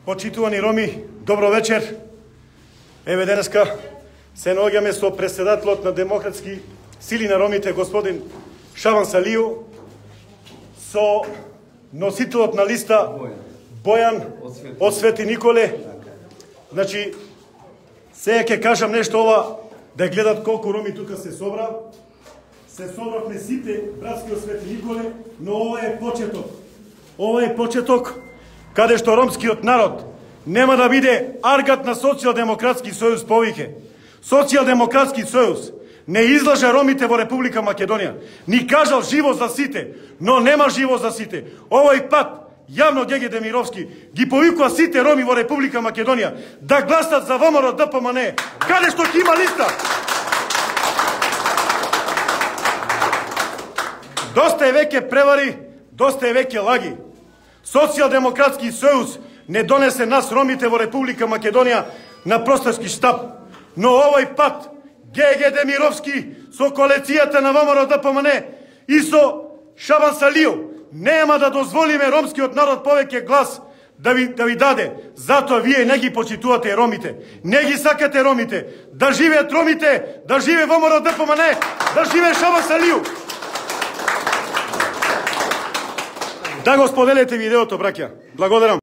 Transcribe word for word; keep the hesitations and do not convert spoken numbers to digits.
Почитувани роми, добро вечер. Еве денеска се наоѓаме со претседателот на Демократски сили на ромите, господин Шабан Салију, со носителот на листа Бојан од Свети Николе. Значи, сега ќе кажам нешто ова, да гледат колку роми тука се собра. Се собравме сите братски од Свети Николе, но ова е почеток. Ова е почеток каде што ромскиот народ нема да биде аргат на Социјалдемократски сојуз повеќе. Социјалдемократски сојуз не излажа ромите во Република Македонија. Ни кажал живо за сите, но нема живо за сите. Овој пат јавно Ѓеѓе Демировски ги повикува сите роми во Република Македонија да гласат за ВМРО ДПМН, каде што ќе има листа. Доста е веќе превари, доста е веќе лаги. Социјалдемократски сојуз не донесе нас ромите во Република Македонија на просторски штаб, но овој пат Ѓеѓе Демировски со коалицијата на ВМРО ДПМН и со Шабан Салију нема да дозволиме ромскиот народ повеќе глас да ви, да ви даде. Затоа вие не ги почитувате ромите, не ги сакате ромите. Да живеат ромите, да живе ВМРО ДПМН, да живе Шабан Салију. Да го споделете видеото, браќа. Благодарам.